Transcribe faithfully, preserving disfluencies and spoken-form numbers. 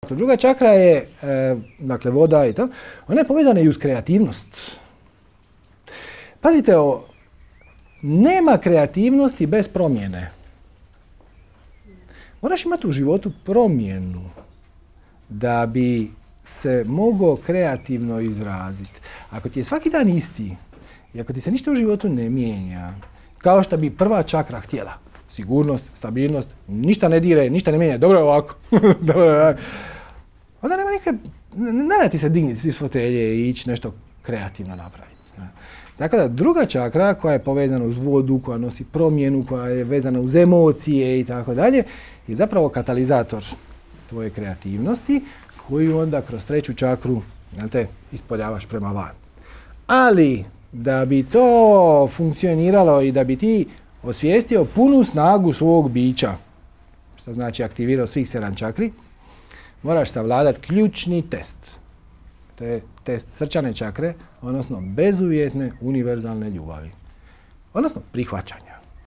Druga čakra je, e, dakle, voda i to, ona je povezana i uz kreativnost. Pazite ovo, nema kreativnosti bez promjene. Moraš imati u životu promjenu da bi se mogao kreativno izraziti. Ako ti je svaki dan isti i ako ti se ništa u životu ne mijenja, kao što bi prva čakra htjela, sigurnost, stabilnost, ništa ne dire, ništa ne mijenja, dobro je ovako, dobro je ovako. Onda nema nikad, ne da ti se digniti iz fotelje i ići nešto kreativno napraviti. Tako da druga čakra koja je povezana uz vodu, koja nosi promjenu, koja je vezana uz emocije i tako dalje, je zapravo katalizator tvoje kreativnosti koju onda kroz treću čakru, znate, ispoljavaš prema van. Ali da bi to funkcioniralo i da bi ti osvijestio punu snagu svog bića, što znači aktivirao svih sedam čakri, moraš savladati ključni test. To je test srčane čakre, odnosno bezuvjetne univerzalne ljubavi. Odnosno prihvaćanja.